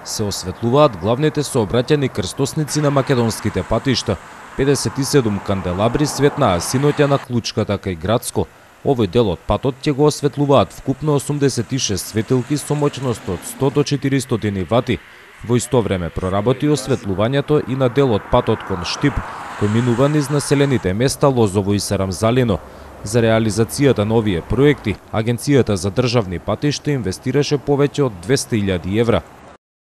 се осветлуваат главните сообраќајни крстосници на македонските патишта. 57 канделабри светнаа синоќа на Клучката кај Градско. Овој дел од патот ќе го осветлуваат вкупно 86 светилки со моќност од 100 до 400 вати. Во исто време проработи осветлувањето и на дел од патот кон Штип, кој минува низ населените места Лозово и Сарамзалино. За реализацијата на овие проекти, Агенцијата за државни патишта инвестираше повеќе од 200.000 евра.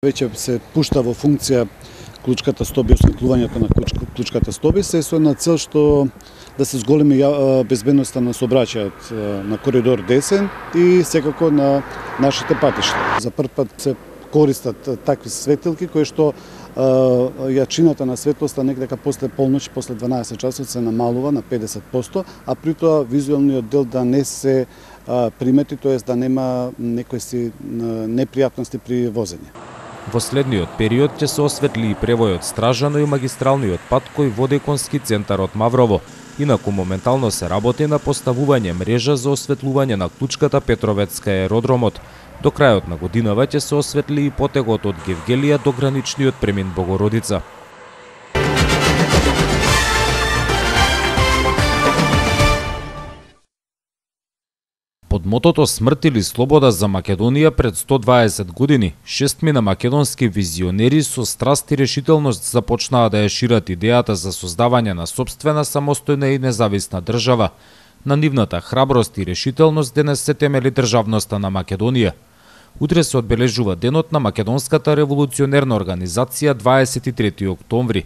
Веќе се пушта во функција Клучката Стоби, осветлувањето на Клучката Стоби, се со една цел што да се зголеми безбедноста на сообраќајот на коридор 10 и секако на нашите патишта. За прв пат се користат такви светилки кои што јачината на светлоста некако после полноќ, после 12 часот се намалува на 50%, а при тоа визуелниот дел да не се примети, тоест да нема некои си непријатности при возење. Во следниот период ќе се осветли и превојот Стражано и магистралниот пат кој води кон ски центарот Маврово. Инаку моментално се работи на поставување мрежа за осветлување на Клучката, Петровецка и аеродромот. До крајот на годинава ќе се осветли и потегот од Гевгелија до граничниот премин Богородица. Под мотото "Смрт или слобода за Македонија" пред 120 години, 6 македонски визионери со страст и решителност започнаа да ја шират идејата за создавање на сопствена, самостојна и независна држава. На нивната храброст и решителност денес се темели државноста на Македонија. Утре се одбележува денот на Македонската револуционерна организација 23 октомври.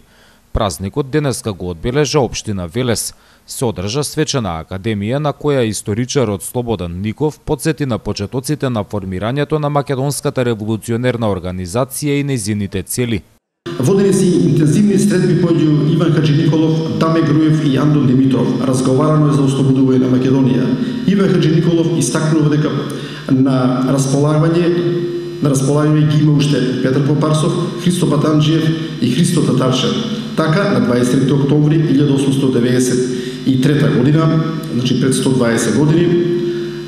Празникот денеска го одбележа општина Велес. Се одржа свечена академија на која историчарот Слободан Ников потсети на почетоците на формирањето на Македонската револуционерна организација и нејзините цели. Водени се интензивни средби помеѓу Иван Хаџиниколов, Даме Груев и Андон Димитров. Разговарано е за ослободување на Македонија. Иван Хаџиниколов истакнува дека на располагање ги има уште Петар Попарсов, Христо Батанџиев и Христо Татарчев. Така, на 23 октомври 1893 година, значи пред 120 години,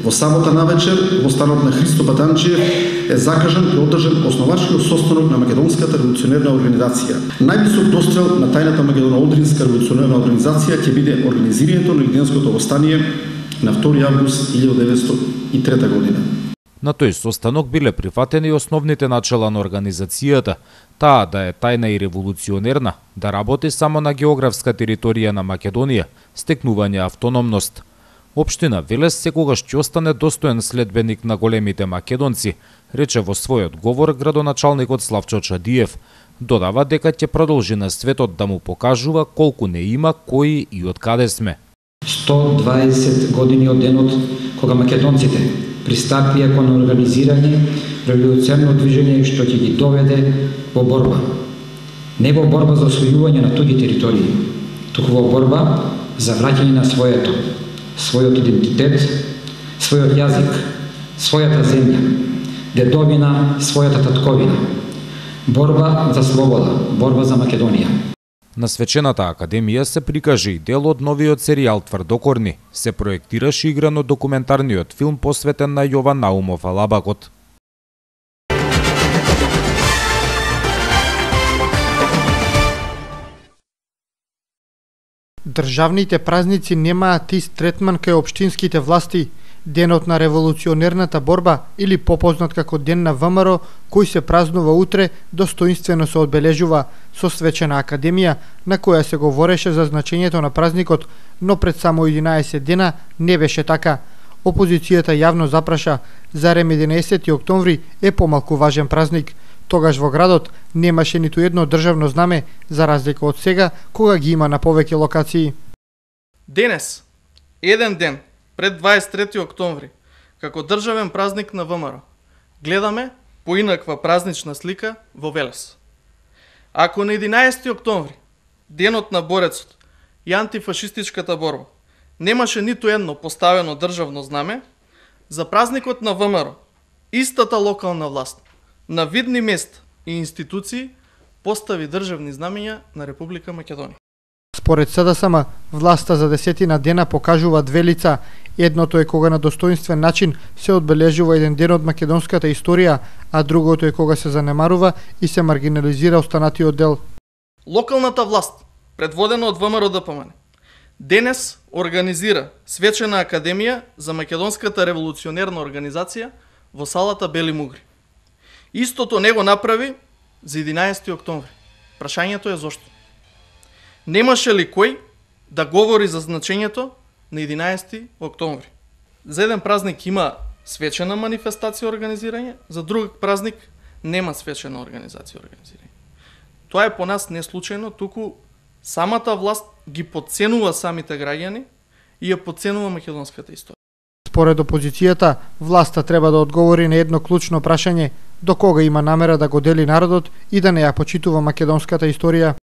во сабота навечер, во станот на Христо Батанџиев е закажан и одржан основачкиот состанок на Македонската револуционерна организација. Највисок дострел на тајната Македоно-Одринска револуционерна организација ќе биде организирањето на Илијанското востание на 2 август 1903 година. На тој состанок биле прифатени основните начела на организацијата, таа да е тајна и револуционерна, да работи само на географска територија на Македонија, стекнување автономност. Општина Велес секогаш ќе остане достоен следбеник на големите македонци, рече во својот говор градоначалникот Славчо Чадиев. Додава дека ќе продолжи на светот да му покажува колку не има, кои и од каде сме. 120 години од денот кога македонците пристапија кон организирање револуционерно движење што ќе ги доведе во борба. Не во борба за освојување на туѓи територии, туку во борба за враќање на својот идентитет, својот јазик, својата земја, дедовина, својата татковина. Борба за слобода, борба за Македонија. На свечената академија се прикажа и дел од новиот серијал Тврдокорни. Се проектираше играно документарниот филм посветен на Јован Наумов Алабакот. Државните празници немаат ист третман кај општинските власти. Денот на револуционерната борба, или попознат како Ден на ВМРО, кој се празнува утре, достоинствено се одбележува со свечена академија, на која се говореше за значењето на празникот, но пред само 11 дена не беше така. Опозицијата јавно запраша, зарем 11 октомври е помалку важен празник. Тогаш во градот немаше ниту едно државно знаме, за разлика од сега, кога ги има на повеќе локации. Денес, еден ден пред 23 октомври, како државен празник на ВМРО, гледаме поинаква празнична слика во Велес. Ако на 11 октомври, денот на борецот и антифашистичката борба, немаше ниту едно поставено државно знаме, за празникот на ВМРО, истата локална власт, на видни места и институции постави државни знамења на Република Македонија. Според СДСМ, власта за 10 дена покажува две лица. Едното е кога на достоинствен начин се одбележува еден ден од македонската историја, а другото е кога се занемарува и се маргинализира останатиот дел. Локалната власт, предводена од ВМРО ДПМН, денес организира свечена академија за македонската револуционерна организација во салата Бели Мугри. Истото не го направи за 11 октомври. Прашањето е зошто? Немаше ли кој да говори за значењето на 11 октомври? За еден празник има свечена манифестација организирање, за друг празник нема свечена организација организирање. Тоа е по нас не случајно, туку самата власт ги подценува самите граѓани и ја подценува македонската историја. Според опозицијата, власта треба да одговори на едно клучно прашање: до кога има намера да го дели народот и да не ја почитува македонската историја?